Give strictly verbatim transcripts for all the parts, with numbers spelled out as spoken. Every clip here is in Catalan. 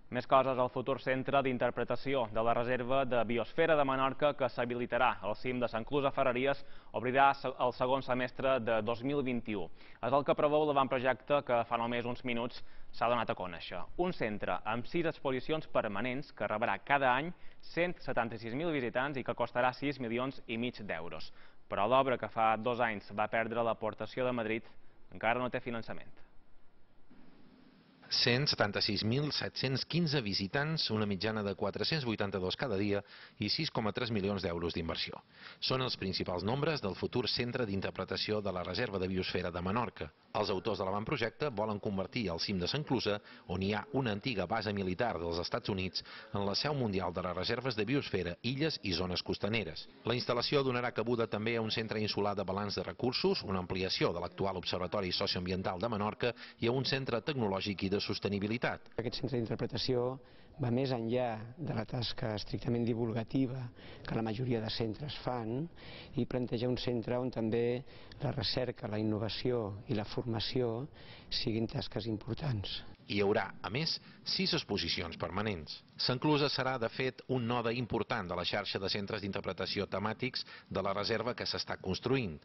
Més coses, el futur centre d'interpretació de la reserva de biosfera de Menorca, que s'habilitarà al cim de Sant Clus a Ferreries, obrirà el segon semestre de dos mil vint-i-u. És el que preveu l'avantprojecte que fa només uns minuts s'ha donat a conèixer. Un centre amb sis exposicions permanents que rebrà cada any cent setanta-sis mil visitants i que costarà sis milions i mig d'euros. Però l'obra, que fa dos anys va perdre l'aportació de Madrid, encara no té finançament. cent setanta-sis mil set-cents quinze visitants, una mitjana de quatre-cents vuitanta-dos cada dia i sis coma tres milions d'euros d'inversió. Són els principals nombres del futur centre d'interpretació de la reserva de biosfera de Menorca. Els autors de l'avantprojecte volen convertir el cim de Sant Clusa, on hi ha una antiga base militar dels Estats Units, en la seu mundial de les reserves de biosfera, illes i zones costaneres. La instal·lació donarà cabuda també a un centre insular de balanç de recursos, una ampliació de l'actual Observatori Socioambiental de Menorca i a un centre tecnològic i de sostenibilitat. Aquest centre d'interpretació va més enllà de la tasca estrictament divulgativa que la majoria de centres fan i planteja un centre on també la recerca, la innovació i la formació siguin tasques importants. Hi haurà, a més, sis exposicions permanents. Sant Clusa serà, de fet, un node important de la xarxa de centres d'interpretació temàtics de la reserva que s'està construint.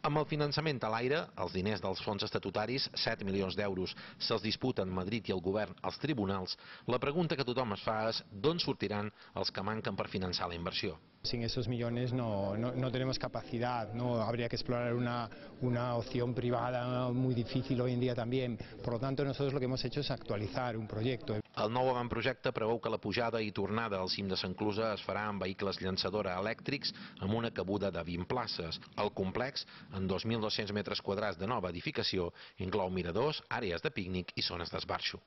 Amb el finançament a l'aire, els diners dels fons estatutaris, set milions d'euros, se'ls disputen Madrid i el govern als tribunals, la pregunta que tothom es fa és d'on sortiran els que manquen per finançar la inversió. Sin esos millones no, no, no tenemos capacidad, ¿no? Habría que explorar una, una opción privada muy difícil hoy en día también. Por lo tanto, nosotros lo que hemos hecho es actualizar un proyecto. El nou avantprojecte preveu que la pujada i tornada al cim de Sant Clusa es farà amb vehicles llançadora elèctrics amb una cabuda de vint places. El complex, en dos mil dos-cents metres quadrats de nova edificació, inclou miradors, àrees de pícnic i zones d'esbarxo.